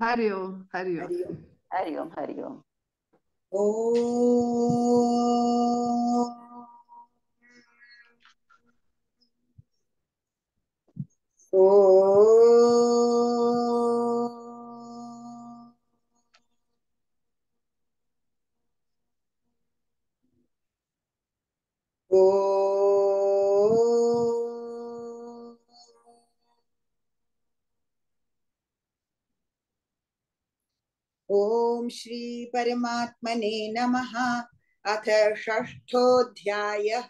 हरि ओम हरि ओम। हरि ओम। हरि ओम हरि ओम। ओम श्री परमात्मने नमः। अथ षष्ठोऽध्यायः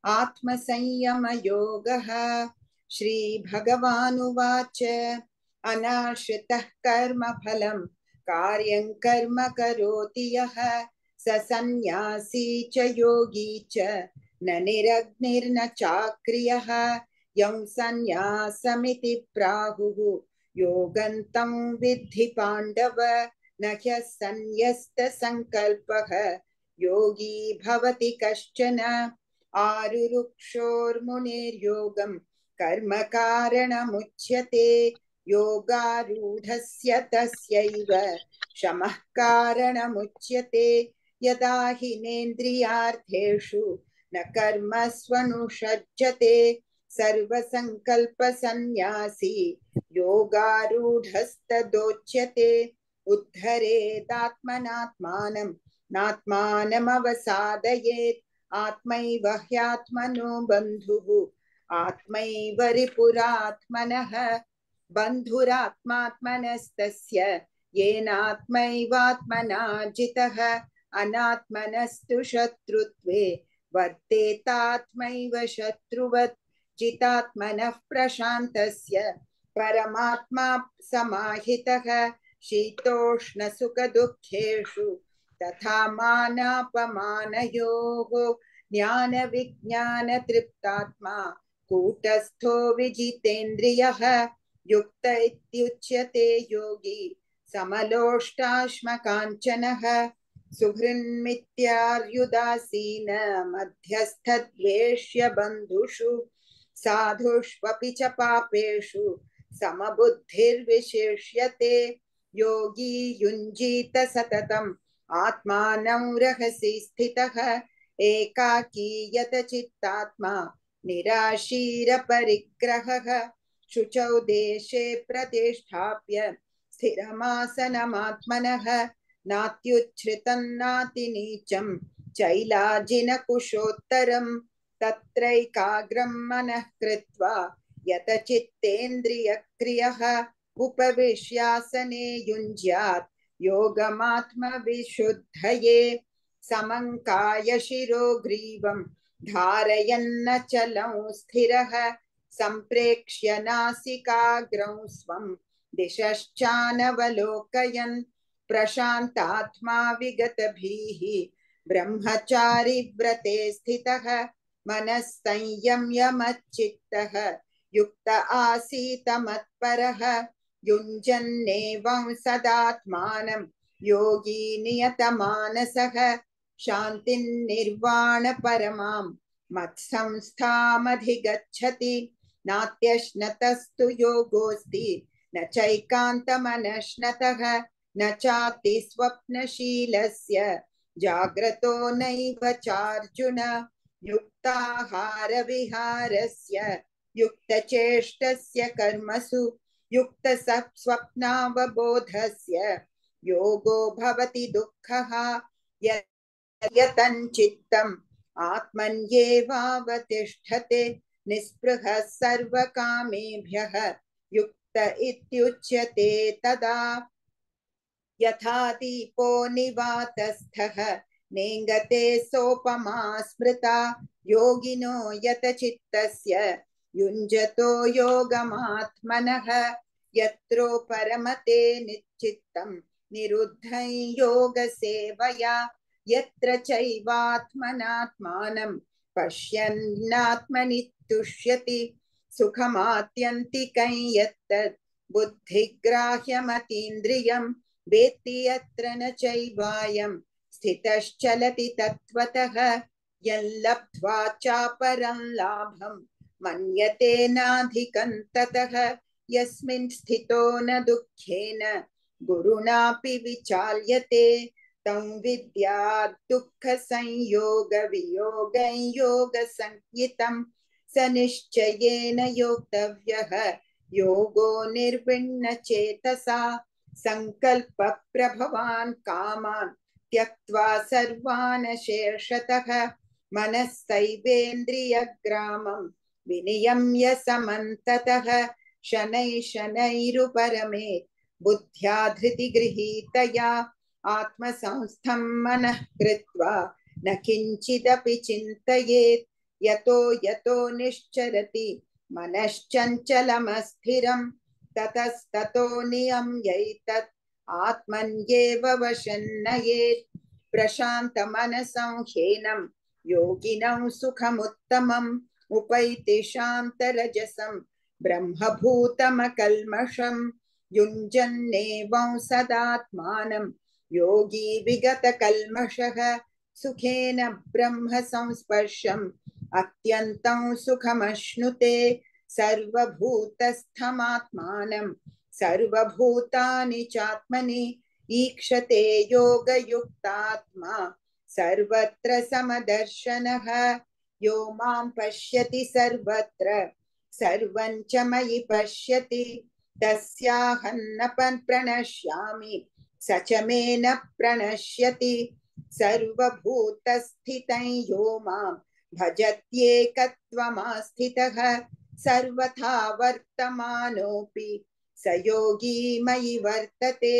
आत्मसंयम योगः। श्री भगवानुवाच अनाश्रितः कर्म फलं कार्यं कर्म करोति यः स सन्न्यासी च योगी च न निरग्निर्न चाक्रियः यं सन्न्यासमिति प्राहुः योगन्तं विद्धि पाण्डव न ह्यसन्न्यस्तसङ्कल्पः योगी भवति कश्चन आरुरुक्षोर्मुनिर्योगं कर्म कारणमुच्यते योगारूढस्य तस्यैव शमः कारणमुच्यते यदा हिनेन्द्रियार्थेषु न कर्मस्वनुषज्जते सर्वसङ्कल्पसन्न्यासी योगारूढस्तदोच्यते उद्धरेदात्मनात्मानं नात्मानमवसादयेत् आत्मैव ह्यात्मनो बन्धुः आत्मैव रिपुरात्मनः बन्धुरात्मात्मनस्तस्य येनात्मैवात्मना जितः अनात्मनस्तु शत्रुत्वे वर्तेतात्मैव शत्रुवत् जितात्मनः प्रशान्तस्य परमात्मा समाहितः शीतोष्णसुखदुःखेषु तथा मानापमानयोः ज्ञानविज्ञानतृप्तात्मा कूटस्थो विजितेन्द्रियः युक्त इत्युच्यते योगी समलोष्टाश्मकाञ्चनः सुहृन्मित्यार्युदासीन मध्यस्थद्वेष्य बन्धुषु साधुष्वपि च पापेषु समबुद्धिर्विशिष्यते योगी युञ्जीत सततम् आत्मानं रहसि स्थितः एकाकीयत चित्तात्मा निराशीरपरिग्रहः शुचौ देशे प्रतिष्ठाप्य स्थिरमासनमात्मनः नात्युच्छ्रितं नातिनीचं चैलाजिनकुशोत्तरम् तत्रैकाग्रं मनः कृत्वा यतचित्तेन्द्रियक्रियः उपविश्यासने युञ्ज्यात् योगमात्मविशुद्धये समं कायशिरो ग्रीवं धारयन्नचलं स्थिरः सम्प्रेक्ष्य नासिकाग्रं स्वं दिशश्चानवलोकयन् प्रशान्तात्मा विगतभीः ब्रह्मचारी व्रते स्थितः मनः संयम्य मच्चित्तः युक्त आसीत मत्परः युञ्जन्नेवं सदात्मानं योगी नियतमानसः शान्तिर्निर्वाण परमां मत्संस्थामधिगच्छति नात्यश्नतस्तु योगोऽस्ति न चैकान्तमनश्नतः न चाति स्वप्नशीलस्य जाग्रतो नैव चार्जुन युक्ताहारविहारस्य युक्तचेष्टस्य कर्मसु युक्तस्वप्नावबोधस्य योगो भवति दुःखः यतञ्चित्तम् आत्मन्येवावतिष्ठते निःस्पृहः सर्वकामेभ्यः युक्त इत्युच्यते तदा यथा दीपो निवातस्थः नेङ्गते सोपमा स्मृता योगिनो यतचित्तस्य युञ्जतो योगमात्मनः यत्रो परमते निश्चित्तं निरुद्धं योगसेवया यत्र चैवात्मनात्मानं पश्यन्नात्मनि तुष्यति सुखमात्यन्तिकं यत्तद् बुद्धिग्राह्यमतीन्द्रियं वेत्ति यत्र न चैवायं स्थितश्चलति तत्त्वतः यल्लब्ध्वा चापरं लाभं मन्यते नाधिकं ततः यस्मिन् स्थितो न दुःखेन गुरुणापि विचाल्यते तं विद्यात् दुःखसंयोगवियोगं योगसंज्ञितं स निश्चयेन योक्तव्यः योगो निर्विण्णचेतसा संकल्पप्रभवान् कामान् त्यक्त्वा सर्वान् शेषतः मनस्सैवेन्द्रियग्रामं विनियम्य समन्ततः शनैः शनैरुपरमेत् बुद्ध्या धृतिगृहीतया आत्मसंस्थं मनः कृत्वा न किञ्चिदपि चिन्तयेत् यतो यतो निश्चरति मनश्चञ्चलमस्थिरं ततस्ततो नियम्यैतत् आत्मन्येव वशं नयेत् प्रशान्तमनसं ह्येनं योगिनं सुखमुत्तमम् उपैति शान्तरजसं ब्रह्मभूतमकल्मषं युञ्जन्नेवं सदात्मानं योगी विगतकल्मषः सुखेन ब्रह्म संस्पर्शम् अत्यन्तं सुखमश्नुते सर्वभूतस्थमात्मानं सर्वभूतानि चात्मनि ईक्षते योगयुक्तात्मा सर्वत्र समदर्शनः यो मां पश्यति सर्वत्र सर्वं च मयि पश्यति तस्याहं न प्रणश्यामि स च मे न प्रणश्यति सर्वभूतस्थितं यो मां भजत्येकत्वमास्थितः सर्वथा वर्तमानोऽपि स योगी मयि वर्तते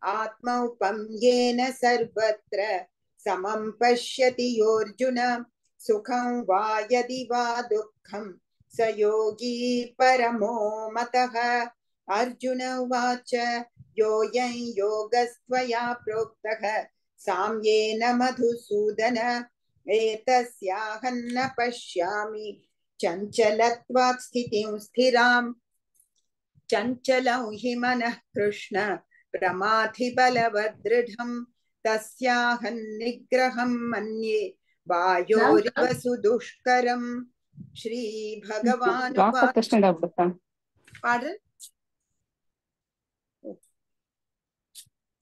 आत्मौपम्येन सर्वत्र समं पश्यति योऽर्जुन सुखं वा यदि वा दुःखं स योगी परमो मतः अर्जुन उवाच योऽयं योगस्त्वया प्रोक्तः साम्येन मधुसूदन एतस्याहं न पश्यामि चञ्चलत्वात् स्थितिं स्थिरां चञ्चलं हि मनः कृष्ण प्रमाथि बलवदृढं तस्याहं निग्रहं मन्ये वायोरिव सुदुष्करम् श्री भगवान्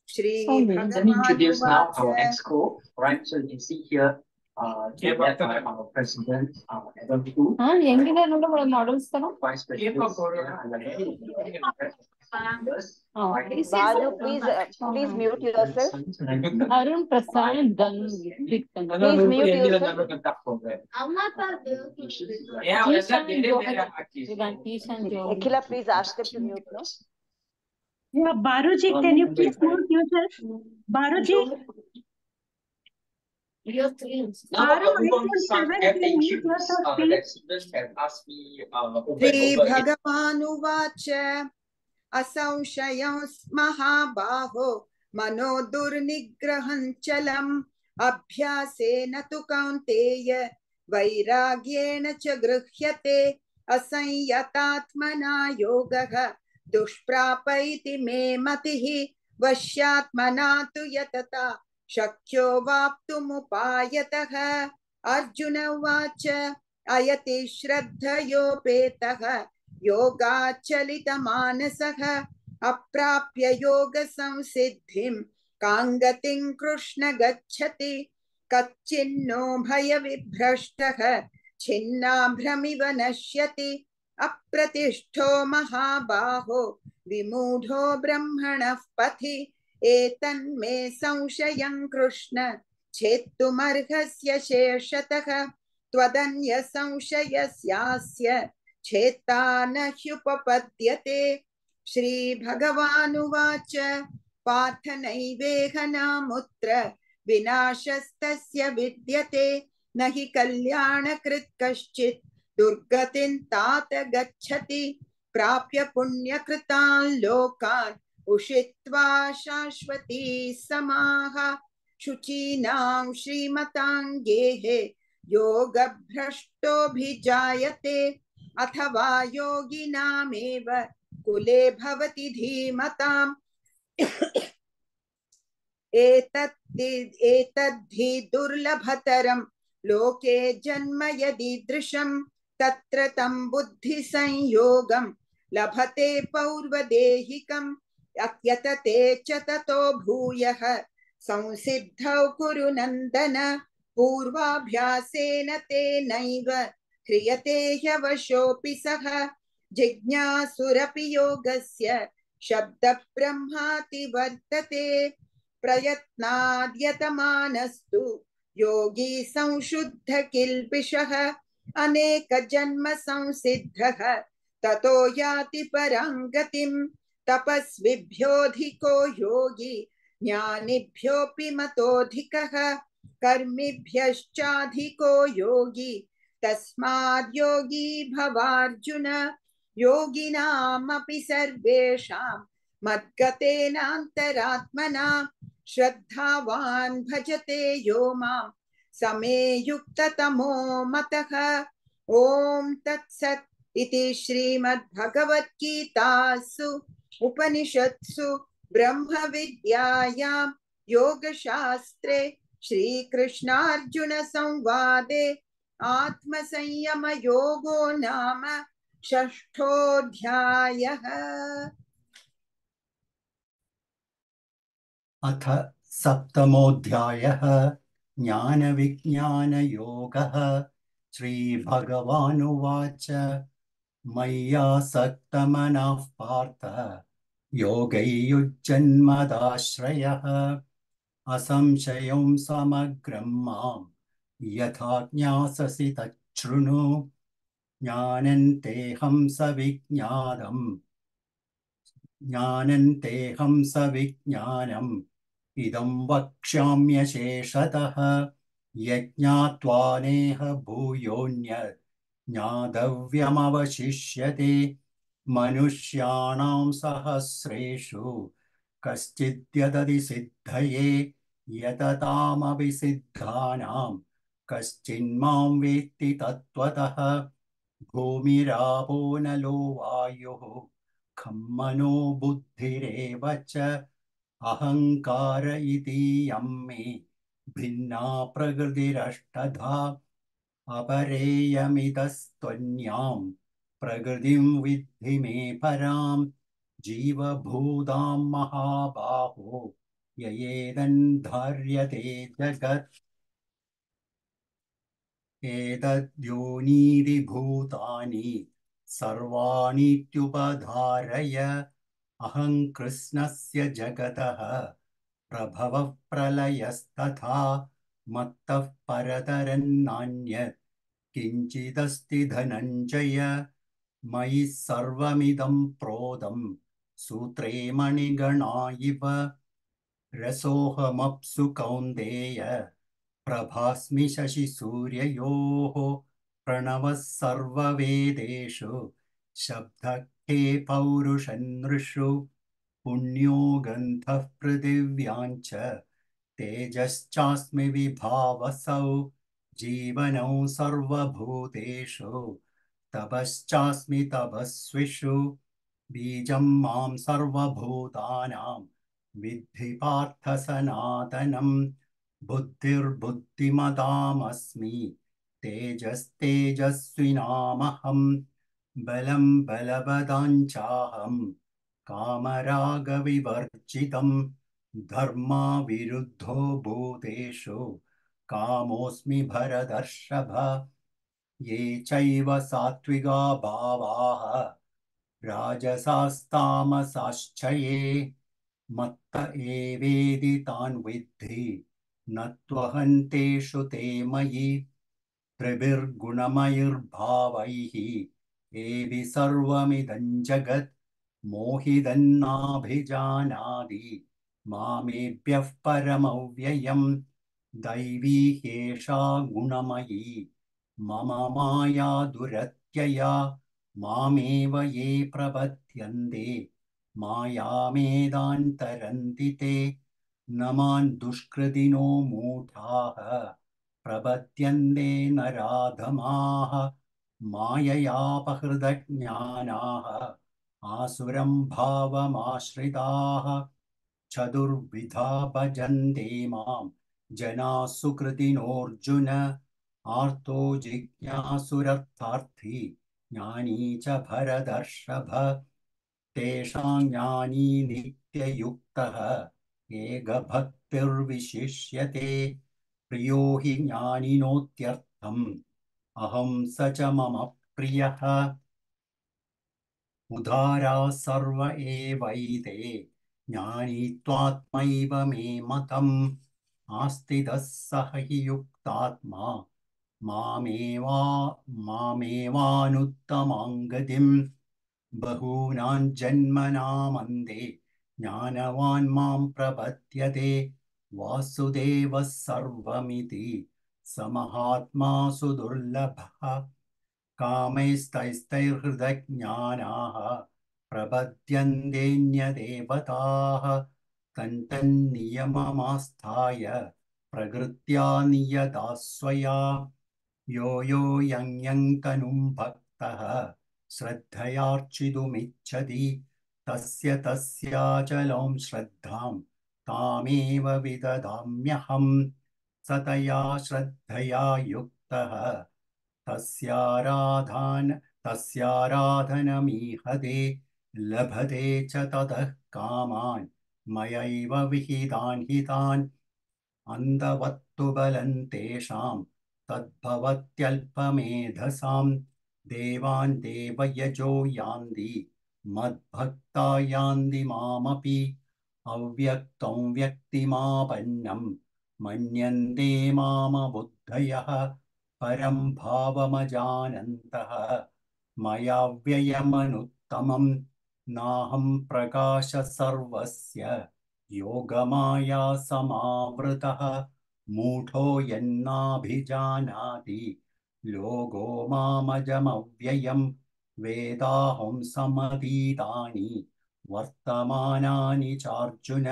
Shri introduce now our exco, right? So you can see here, led by our president, Adam Fu. Models, Vice President. Balu, please mute yourself. Arun Prasad Gan. Please mute yourself. Nikhila, please ask them to mute, no? Yeah, Baruji, can you please mute yourself? Baruji? Shri भगवान् उवाच असंशयं महाबाहो मनो दुर्निग्रहं चलम् अभ्यासेन तु कौन्तेय वैराग्येण च गृह्यते असंयतात्मना योगः दुष्प्राप इति मे मतिः वश्यात्मना तु यतता शक्यो वाप्तुमुपायतः अर्जुन उवाच अयति श्रद्धयोपेतः योगाचलितमानसः अप्राप्य योगसंसिद्धिं काङ्गतिं कृष्ण गच्छति कच्चिन्नो भयविभ्रष्टः छिन्नाभ्रमिव नश्यति अप्रतिष्ठो महाबाहो विमूढो ब्रह्मणः पथि एतन्मे संशयं कृष्ण छेत्तुमर्हस्य शेषतः त्वदन्य संशयस्यास्य छेत्ता न ह्युपपद्यते श्री भगवान् उवाच पार्थ नैवेह नामुत्र विनाशस्तस्य विद्यते न हि कल्याणकृत् कश्चित् दुर्गतिं तात गच्छति प्राप्य पुण्यकृतान् लोकान् उषित्वा शाश्वती समाः शुचीनां श्रीमतां गेहे योगभ्रष्टोऽभिजायते अथवा योगिनामेव कुले भवति धीमताम् एतद्धि दुर्लभतरं लोके जन्म यदीदृशं तत्र तं बुद्धिसंयोगं लभते पौर्वदेहिकं यतते च ततो भूयः संसिद्धौ कुरु नन्दन पूर्वाभ्यासेन तेनैव ह्रियते ह्यवशोऽपि सः जिज्ञासुरपि योगस्य शब्दब्रह्माति वर्तते प्रयत्नाद्यतमानस्तु योगी संशुद्ध किल्बिषः अनेकजन्म संसिद्धः ततो याति परां गतिम् तपस्विभ्योऽधिको योगी ज्ञानिभ्योऽपि मतोऽधिकः कर्मिभ्यश्चाधिको योगी तस्माद् योगी भवार्जुन योगिनामपि सर्वेषां मद्गतेनान्तरात्मना श्रद्धावान् भजते यो मां समे युक्ततमो मतः। ॐ तत्सत् इति श्रीमद्भगवद्गीतासु उपनिषत्सु ब्रह्मविद्यायां योगशास्त्रे श्रीकृष्णार्जुन संवादे आत्मसंयमयोगो नाम षष्ठोऽध्यायः। अथ सप्तमोऽध्यायः ज्ञानविज्ञानयोगः। श्रीभगवानुवाच मय्यासक्तमनः पार्थ योगैर्युज्जन्मदाश्रयः असंशयं समग्रं मां यथा ज्ञास्यसि तच्छृणु ज्ञानन्तेऽहं सविज्ञानम् इदं वक्ष्याम्यशेषतः यज्ञात्वा नेह भूयोऽन्यत् ज्ञातव्यमवशिष्यते मनुष्याणां सहस्रेषु कश्चिद्यदति सिद्धये यततामपि सिद्धानां कश्चिन्मां वेत्ति तत्त्वतः भूमिरापो नलो वायुः खं मनो बुद्धिरेव च अहंकार इतीयं मे भिन्ना प्रकृतिरष्टधा अपरेयमितस्त्वन्यां प्रकृतिं विद्धि मे परां जीवभूतां महाबाहो ययेदन्धार्यते जगत् एतद्योनीनि भूतानि सर्वाणीत्युपधारय अहं कृष्णस्य जगतः प्रभवः प्रलयस्तथा मत्तः परतरन्नान्यत् किञ्चिदस्ति धनञ्जय मयि सर्वमिदं प्रोतं सूत्रे मणिगणा इव रसोऽहमप्सु कौन्तेय प्रभास्मि शशिसूर्ययोः प्रणवः सर्ववेदेषु शब्दः खे पौरुषनृषु पुण्यो गन्धः पृथिव्याञ्च तेजश्चास्मि विभावसौ जीवनौ सर्वभूतेषु तपश्चास्मि तपस्विषु बीजं मां सर्वभूतानां विद्धि पार्थ सनातनम् बुद्धिर्बुद्धिमतामस्मि तेजस्तेजस्विनामहम् बलं बलवताञ्चाहं कामरागविवर्जितं धर्माविरुद्धो भूतेषु कामोऽस्मि भरतर्षभ ये चैव सात्विका भावाः राजसास्तामसाश्च ये मत्त एवेति तान् विद्धि न त्वहन्तेषु ते मयि त्रिभिर्गुणमयैर्भावैः एवि सर्वमिदं जगत् मोहिदन्नाभिजानाति मामेभ्यः परमव्ययम् दैवी ह्येषा गुणमयी मम माया दुरत्यया मामेव ये प्रपद्यन्ते मायामेदान्तरन्ति ते न मां दुष्कृतिनो मूढाः प्रपद्यन्ते नराधमाः माययापहृतज्ञानाः आसुरं भावमाश्रिताः चतुर्विधा भजन्ते मां जनाः सुकृतिनोऽर्जुन आर्तो जिज्ञासुरर्थार्थी ज्ञानी च भरतर्षभ तेषां ज्ञानी नित्ययुक्तः एकभक्तिर्विशिष्यते प्रियो हि ज्ञानिनोत्यर्थम् अहं स च मम प्रियः उदारा सर्व एवैते ज्ञानी त्वात्मैव मे मतम् आस्तिदः सह हि युक्तात्मा मामेवानुत्तमां गतिम् बहूनां जन्मनामन्ते ज्ञानवान् मां प्रपद्यते वासुदेवः सर्वमिति स महात्मा सुदुर्लभः कामैस्तैस्तैर्हृदज्ञानाः प्रपद्यन्तेऽन्यदेवताः तन्तन्नियममास्थाय प्रकृत्या नियता स्वया यो यो यं तनुं भक्तः श्रद्धयार्चितुमिच्छति तस्य तस्याचलं श्रद्धां तामेव विददाम्यहम् स तया श्रद्धया युक्तः तस्याराधनमीहते लभते च ततः कामान् मयैव विहितान् हितान् अन्धवत्तु बलं तेषां तद्भवत्यल्पमेधसां देवान् देवयजो यान्ति मद्भक्ता यान्ति मामपि अव्यक्तं व्यक्तिमापन्नं मन्यन्ते मामबुद्धयः परं भावमजानन्तः मया व्ययमनुत्तमं नाहं प्रकाश सर्वस्य योगमाया समावृतः मूढो यन्नाभिजानाति लोको मामजमव्ययं वेदाहं समतीतानि वर्तमानानि चार्जुन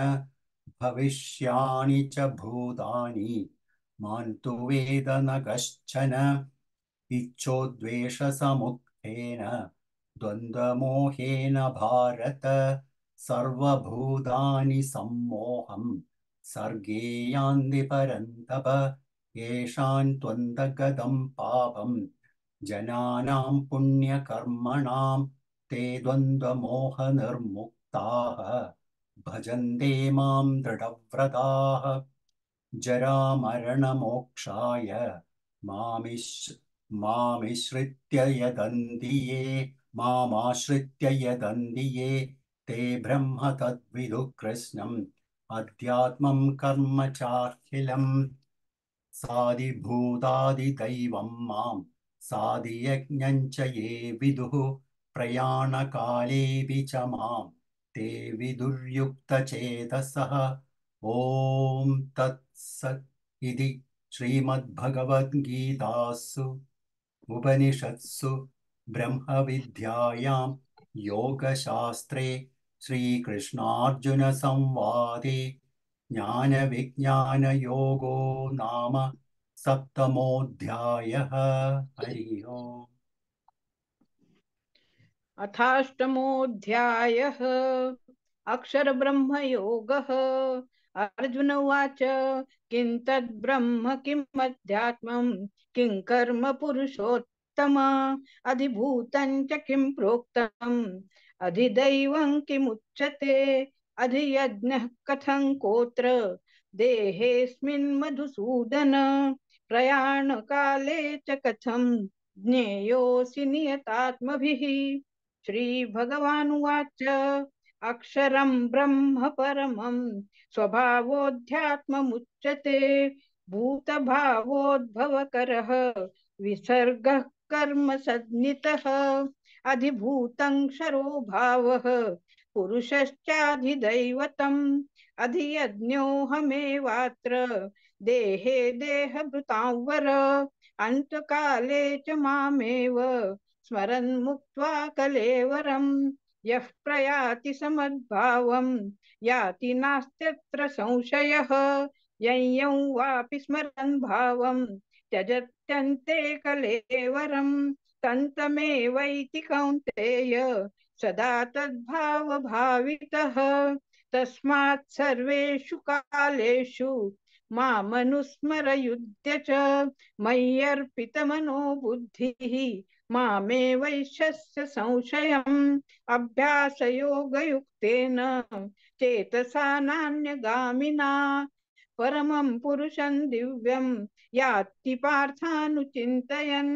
भविष्याणि च भूतानि मां तु वेद न कश्चन इच्छोद्वेषसमुत्थेन द्वन्द्वमोहेन भारत सर्वभूतानि सम्मोहं सर्गे यान्ति परन्तप येषां त्वन्दगतं पापं जनानां पुण्यकर्मणां ते द्वन्द्वमोहनिर्मुक्ताः भजन्ते मां दृढव्रताः जरामरणमोक्षाय मामाश्रित्य यदन्ति ये ते ब्रह्म तद्विदुः कृष्णम् अध्यात्मं कर्म चाखिलम् साधिभूतादिदैवं मां साधियज्ञं च ये विदुः प्रयाणकालेऽपि च मां ते विदुर्युक्तचेतसः ॐ तत्सत् इति श्रीमद्भगवद्गीतासु उपनिषत्सु ब्रह्मविद्यायां योगशास्त्रे श्रीकृष्णार्जुनसंवादे ज्ञानविज्ञानयोगो नाम सप्तमोऽध्यायः हरिः ओम् अथाष्टमोऽध्यायः अक्षरब्रह्मयोगः अर्जुन उवाच किं तद्ब्रह्म किम् अध्यात्मम् किं कर्म पुरुषोत्तम अधिभूतं च किं प्रोक्तम् अधिदैवं किमुच्यते अधियज्ञः कथं कोत्र देहेऽस्मिन् मधुसूदन प्रयाणकाले च कथं ज्ञेयोऽसि नियतात्मभिः श्रीभगवानुवाच अक्षरं ब्रह्म परमं स्वभावोऽध्यात्ममुच्यते भूतभावोद्भवकरः विसर्गः कर्म सन्नितः अधिभूतं क्षरो भावः पुरुषश्चाधिदैवतम् अधियज्ञोऽहमेवात्र देहे देहभृतां वर अन्तकाले च मामेव स्मरन् मुक्त्वा कलेवरम् यः प्रयाति समद्भावं याति नास्त्यत्र संशयः यं वापि स्मरन् भावं त्यजत्यन्ते कलेवरम् तन्तमेवैति कौन्तेय सदा तद्भावभावितः तस्मात् सर्वेषु कालेषु मामनुस्मर युध्य च मय्यर्पितमनो बुद्धिः मामे वैश्यस्य संशयम् अभ्यासयोगयुक्तेन चेतसा नान्यगामिना परमं पुरुषं दिव्यं याति पार्थानुचिन्तयन्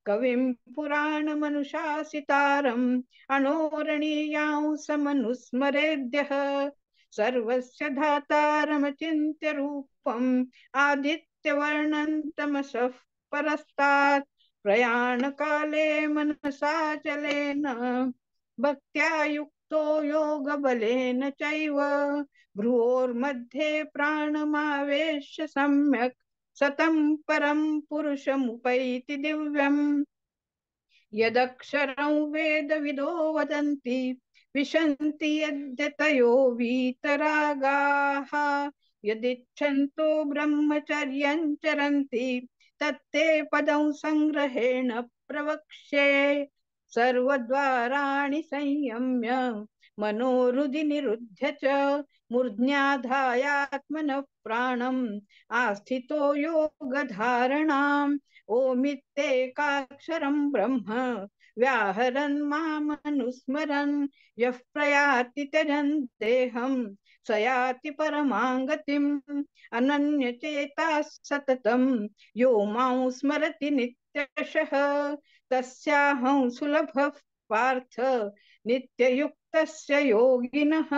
कविं पुराणमनुशासितारम् अणोरणीयांसमनुस्मरेद्यः सर्वस्य धातारमचिन्त्य रूपम् आदित्यवर्णं तमसः परस्तात् प्रयाणकाले मनसाचलेन भक्त्या युक्तो योगबलेन चैव भ्रुवोर्मध्ये प्राणमावेश्य सम्यक् सतं परं पुरुषमुपैति दिव्यम् यदक्षरं वेदविदो वदन्ति विशन्ति यद्यतयो वीतरागाः यदिच्छन्तो ब्रह्मचर्यं चरन्ति तत्ते पदं संग्रहेण प्रवक्ष्ये सर्वद्वाराणि संयम्य मनोहृदि निरुध्य च मूर्ध्याधायात्मनः प्राणम् आस्थितो योगधारणाम् ओमित्येकाक्षरं ब्रह्म व्याहरन् मामनुस्मरन् यः प्रयाति त्यजन् देहं स याति परमां गतिम् अनन्यचेताः सततं यो मां स्मरति नित्यशः तस्याहं सुलभः पार्थ नित्ययुक्तस्य योगिनः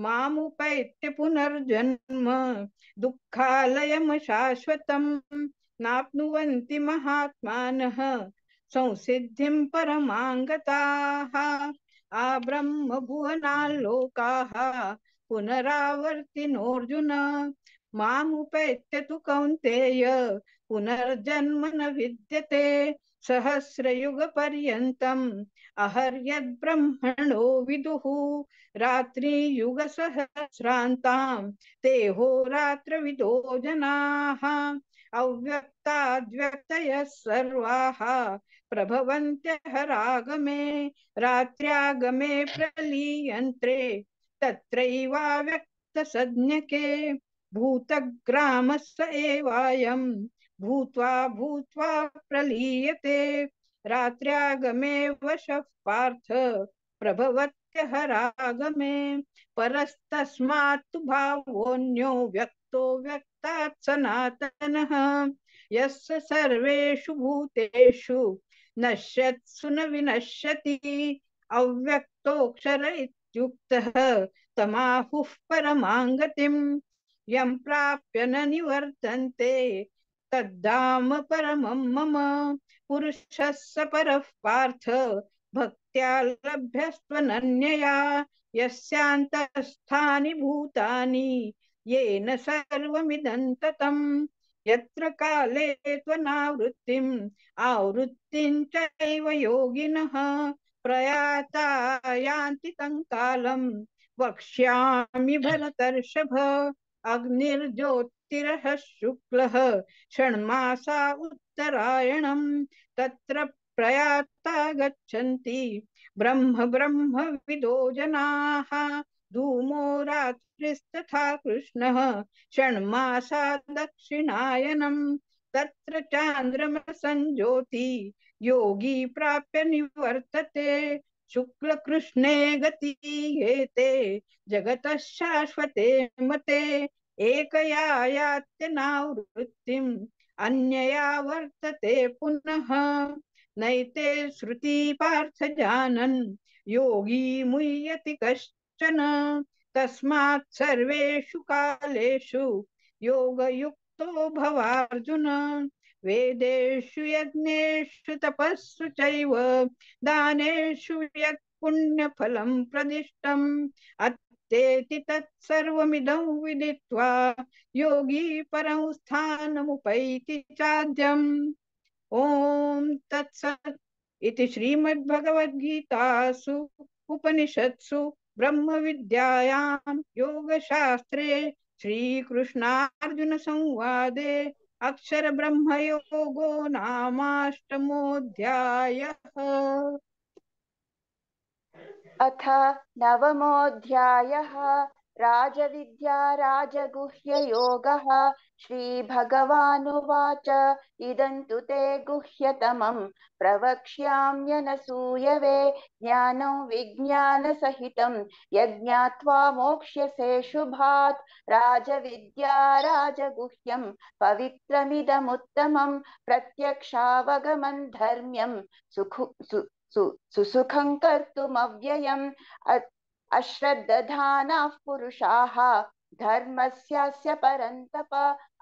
मामुपैत्य पुनर्जन्म दुःखालयं शाश्वतम् नाप्नुवन्ति महात्मानः संसिद्धिं परमां गताः आब्रह्मभुवनाल्लोकाः पुनरावर्तिनोऽर्जुन मामुपैत्य तु कौन्तेय पुनर्जन्म न विद्यते सहस्रयुगपर्यन्तम् अहर्यद्ब्रह्मणो विदुः रात्रियुगसहस्रान्तां ते होरात्रविदो जनाः अव्यक्ताद्व्यक्तयः सर्वाः प्रभवन्त्यः रागमे रात्र्यागमे प्रलीयन्त्रे तत्रैवाव्यक्तसज्ञके भूतग्रामस्य एवायं भूत्वा भूत्वा प्रलीयते रात्र्यागमे वशः पार्थ प्रभवत्यः रागमे परस्तस्मात् तु भावोऽन्यो व्यक्तो व्यक्तात् सनातनः यस्य सर्वेषु भूतेषु नश्यत्सु न विनश्यति अव्यक्तोऽक्षर इत्युक्तः तमाहुः परमां गतिम् यं प्राप्य न निवर्तन्ते तद्धाम परमं मम पुरुषस्य परः पार्थ भक्त्या लभ्यस्त्वनन्यया यस्यान्तस्थानि भूतानि येन सर्वमिदं ततं यत्र काले त्वनावृत्तिम् आवृत्तिं चैव योगिनः प्रयाता यान्ति तं कालं वक्ष्यामि भरतर्षभ अग्निर्ज्योतिरः शुक्लः षण्मासा उत्तरायणम् तत्र प्रयाता गच्छन्ति ब्रह्म ब्रह्मविदो जनाः धूमो रात्रिस्तथा कृष्णः षण्मासा दक्षिणायनम् तत्र चान्द्रमसञ्ज्योति योगी प्राप्य निवर्तते शुक्लकृष्णे गतीयेते जगतः शाश्वते मते एकया यात्यनावृत्तिम् अन्यया वर्तते पुनः नैते श्रुति पार्थ जानन् योगी मुह्यति कश्चन तस्मात् सर्वेषु कालेषु योगयुक्तो भवार्जुन वेदेषु यज्ञेषु तपस्सु चैव दानेषु यत् पुण्यफलं प्रदिष्टम् अत्तेति तत्सर्वमिदं विदित्वा योगी परं स्थानमुपैति चाद्यम् ॐ तत्सत् इति श्रीमद्भगवद्गीतासु उपनिषत्सु ब्रह्मविद्यायां योगशास्त्रे श्रीकृष्णार्जुन संवादे अक्षर ब्रह्मयोगो नामाष्टमोऽध्यायः। अथ नवमोऽध्यायः राजविद्या राजगुह्ययोगः श्रीभगवानुवाच इदं तु ते गुह्यतमं प्रवक्ष्याम्यनसूयवे ज्ञानं विज्ञानसहितं यज्ञात्वा मोक्ष्यसे शुभात् राजविद्या राजगुह्यं पवित्रमिदमुत्तमं प्रत्यक्षावगमं धर्म्यं सुसुखं कर्तुमव्ययम् अश्रद्धधानाः पुरुषाः धर्मस्यास्य परन्तप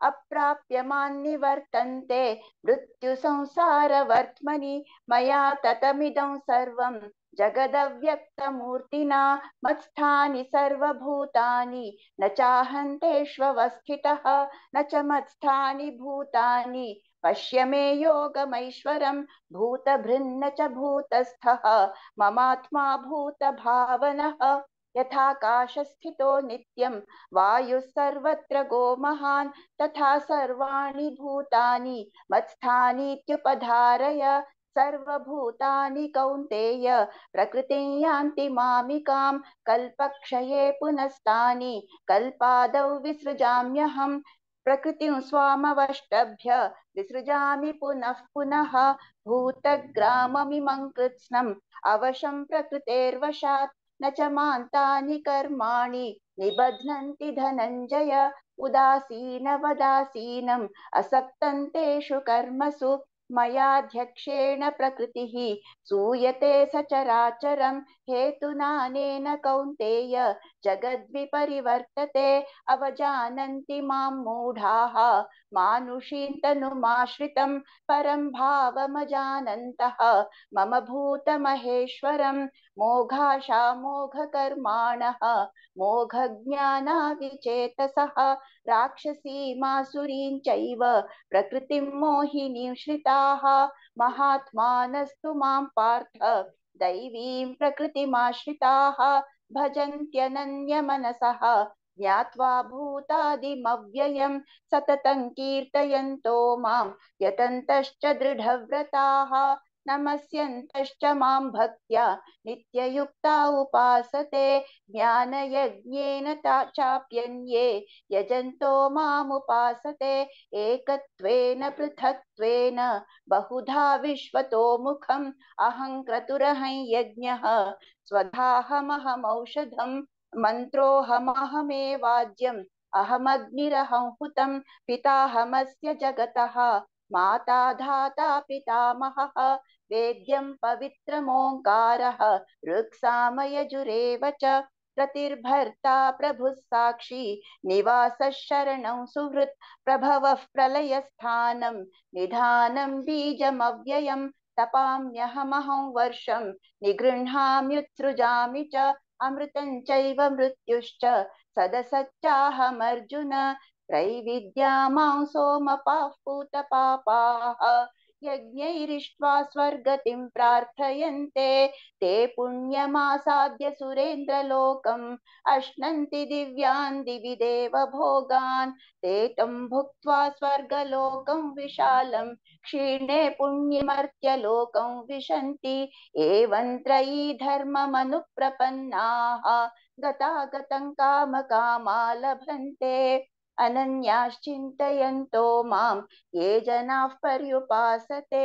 अप्राप्यमान् निवर्तन्ते मृत्युसंसारवर्त्मनि मया ततमिदं सर्वं जगदव्यक्तमूर्तिना मत्स्थानि सर्वभूतानि न चाहन्तेष्वस्थितः न च मत्स्थानि भूतानि पश्य मे योगमैश्वरं भूतभृन्न च भूतस्थः ममात्मा भूतभावनः यथाकाशस्थितो नित्यं वायुः सर्वत्र गो महान् तथा सर्वाणि भूतानि मत्स्थानीत्युपधारय सर्वभूतानि कौन्तेय प्रकृतिं यान्ति मामिकां कल्पक्षये पुनस्तानि कल्पादौ विसृजाम्यहं प्रकृतिं स्वामवष्टभ्य विसृजामि पुनः पुनः भूतग्राममिमं कृत्स्नम् अवशं प्रकृतेर्वशात् न च मान्तानि कर्माणि निबध्नन्ति धनञ्जय उदासीनवदासीनम् असक्तं तेषु कर्मसु मयाध्यक्षेण प्रकृतिः सूयते सचराचरं हेतुनानेन कौन्तेय जगद्विपरिवर्तते अवजानन्ति मां मूढाः मानुषीं तनुमाश्रितं परं भावमजानन्तः मम भूतमहेश्वरं मोघाशामोघकर्माणः मोघज्ञानाविचेतसः राक्षसीमासुरीं चैव प्रकृतिं मोहिनीं श्रिताः महात्मानस्तु मां पार्थ दैवीं प्रकृतिमाश्रिताः भजन्त्यनन्यमनसः ज्ञात्वा भूतादिमव्ययं सततं कीर्तयन्तो मां यतन्तश्च दृढव्रताः नमस्यन्तश्च मां भक्त्या नित्ययुक्ता उपासते ज्ञानयज्ञेन चाप्यन्ये यजन्तो मामुपासते एकत्वेन पृथक्त्वेन बहुधा विश्वतो मुखम् अहं क्रतुरहं यज्ञः स्वधाहमहमौषधं मन्त्रोऽहमहमेवाज्यम् अहमग्निरहं हुतं पिताहमस्य जगतः माता धाता पितामहः वेद्यं पवित्रमोङ्कारः ऋक्सामयजुरेव च प्रतिर्भर्ता प्रभुः साक्षी निवासः शरणं सुहृत् प्रभवः प्रलयस्थानं निधानं बीजमव्ययं तपाम्यहमहं वर्षं निगृह्णाम्युत्सृजामि च अमृतं चैव मृत्युश्च सदसच्चाहमर्जुन त्रैविद्या मां सोमपाः पूतपापाः यज्ञैरिष्ट्वा स्वर्गतिं प्रार्थयन्ते ते पुण्यमासाद्य सुरेन्द्रलोकम् अश्नन्ति दिव्यान् दिवि देव भोगान् ते तं भुक्त्वा स्वर्गलोकं विशालं क्षीणे पुण्यमर्त्यलोकं विशन्ति एवं त्रयी धर्ममनुप्रपन्नाः गतागतं कामकामा लभन्ते अनन्याश्चिन्तयन्तो मां ये जनाः पर्युपासते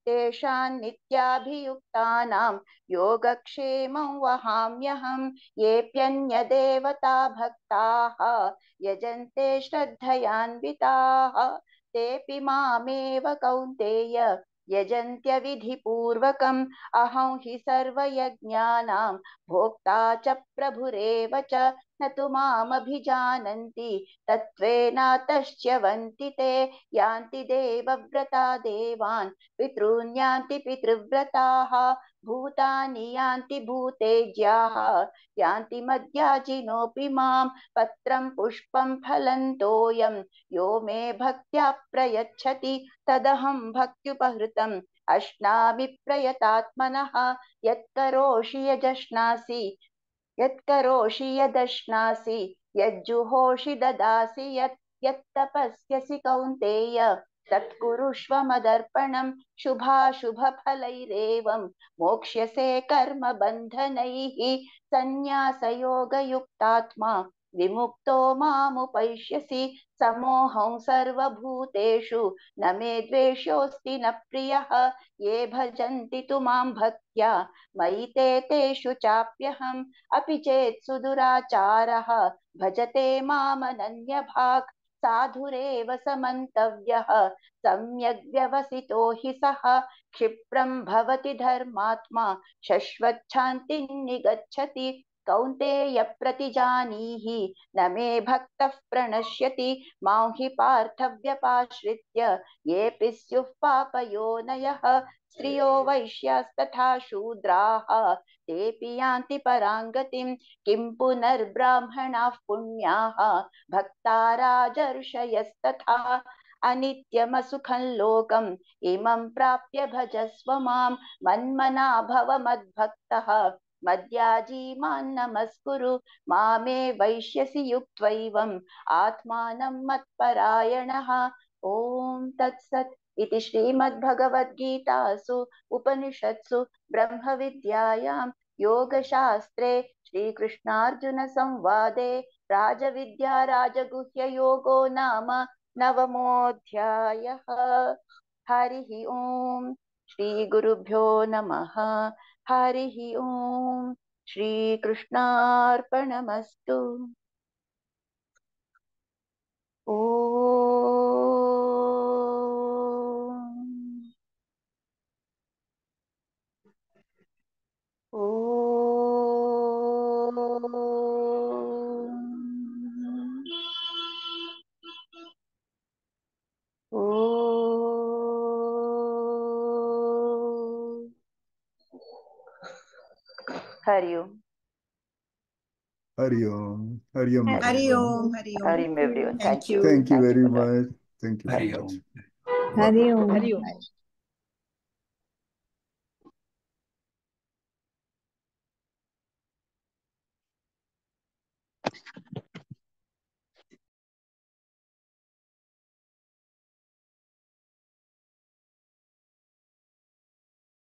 तेषां नित्याभियुक्तानां योगक्षेमं वहाम्यहं येऽप्यन्यदेवता भक्ताः यजन्ते श्रद्धयान्विताः तेऽपि मामेव कौन्तेय यजन्त्यविधिपूर्वकम् अहं हि सर्वयज्ञानां भोक्ता च प्रभुरेव च न तु मामभिजानन्ति तत्त्वेनातश्च्यवन्ति ते यान्ति देवव्रता देवान् पितॄन् यान्ति पितृव्रताः भूतानि यान्ति भूतेज्याः यान्ति मद्याजिनोऽपि मां पत्रं पुष्पं फलं तोयं यो मे भक्त्या प्रयच्छति तदहं भक्त्युपहृतम् अश्नामि प्रयतात्मनः यत्करोषि यदश्नासि यज्जुहोषि ददासि यत्तपस्यसि कौन्तेय तत्कुरुष्व मदर्पणं शुभाशुभफलैरेवं मोक्ष्यसे कर्मबन्धनैः सन्न्यासयोगयुक्तात्मा विमुक्तो मामुपैष्यसि समोऽहं सर्वभूतेषु न मे द्वेषोऽस्ति न प्रियः ये भजन्ति तु मां भक्त्या मयि ते तेषु चाप्यहम् अपि चेत् सुदुराचारः भजते मामनन्यभाक् साधुरेव समन्तव्यः सम्यग् व्यवसितो हि सः क्षिप्रं भवति धर्मात्मा शश्वच्छान्तिं निगच्छति कौन्तेय प्रतिजानीहि न मे भक्तः प्रणश्यति मां हि पार्थव्यपाश्रित्य येऽपि स्युः पापयोनयः स्त्रियो वैश्यास्तथा शूद्राः तेऽपि यान्ति परां गतिं किं पुनर्ब्राह्मणाः पुण्याः भक्ता राजर्षयस्तथा अनित्यमसुखं लोकम् इमं प्राप्य भजस्व मां मन्मना भव मद्भक्तः मद्याजी मां नमस्कुरु मामे वैश्यसि युक्त्वैवम् आत्मानं मत्परायणः ॐ तत्सत् इति श्रीमद्भगवद्गीतासु उपनिषत्सु ब्रह्मविद्यायां योगशास्त्रे श्रीकृष्णार्जुनसंवादे राजविद्या राजगुह्ययोगो नाम नवमोऽध्यायः। हरिः ओम् श्रीगुरुभ्यो नमः। हरिः ओम् श्रीकृष्णार्पणमस्तु। हरि ओम। Hari Om. Hari Om. Hari everyone. Om. Hari Om. Hari Om everyone. Thank you. Thank you very for that. much. Thank you very Hari much. Om. Hari Om. Hari Om.